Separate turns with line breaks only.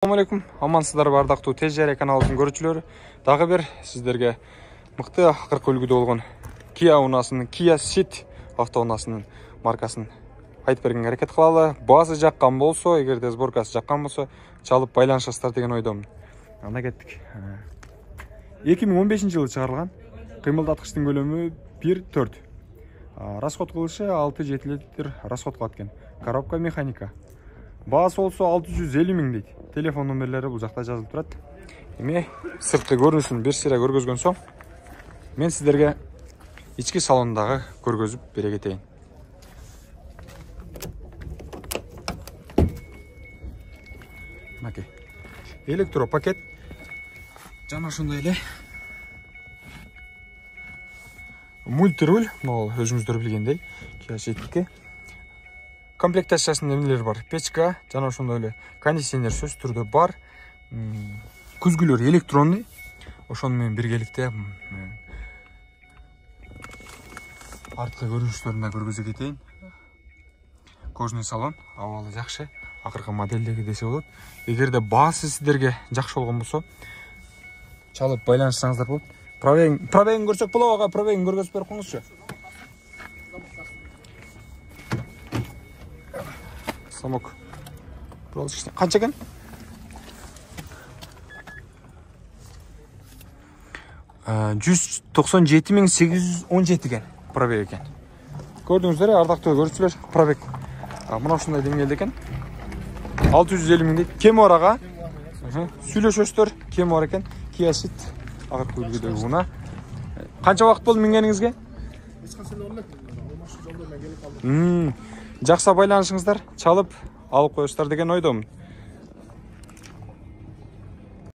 Assalamu alaikum. Амансыздарбы ардактуу Тез Жария каналыбыздын көрүүчүлөрү. Дагы бир сиздерге мыкты акыркы үлгүдө болгон Kia унаасынын Kia Ceed автоунаасынын маркасын айтып бергенге аракет кылалы. Баасы жаккан болсо, эгерде сборкасы жаккан болсо, чалып байланышасыздар деген ойдомун. Анда кеттик. 2015-жылы чыгарылган. Кыймылдаткычтын көлөмү 1.4. Расход кылышы 6-7 литр расход кылат экен. Коробка механика. Баасы болсо 650 миң дейт. Телефон номерлери бул жакта жазылып турат. Эми сыртқы көрүнүшүн бир сыйра көргөзгөн соң, мен сиздерге ички салондагы көргөзүп бере кетейин. Мынакей. Электропакет. Жана ошондой эле мультируль, могул өзүңүздөр билгендей, Kia Ceed'тики. Комплектациясында эмнелер бар? Печка, жана ошондой эле кондиционер сөзсүз түрдө бар. Күзгүлөр электронный. Ошону менен биргеликте арткы көрүнүштөрүн да көргөзө кетейин. Кожный салон, абалы жакшы. Акыркы модельдеги десе болот. Эгерде баасы сиздерге жакшы болгон болсо, чалып байланышсаңыздар болот. Пробегин көрсөк болобу ага? Пробегин көргөзүп берип коюңузчу. Самок. Канча экен? 197.817 экен пробег экен. Көрдүңүздөр, ардактуу көрүүчүлөр, пробег. Мына ушундай деңгээлде экен. 650 миң дейт. Кем бар ага? Сүйлөшөсүздөр, кем бар экен. Kia Ceed акыркы үлгүдөгү унаа. Канча убакыт болду мингениңизге? Жакса байланышыңыздар, чалып алып коесуздар деген ойдомун.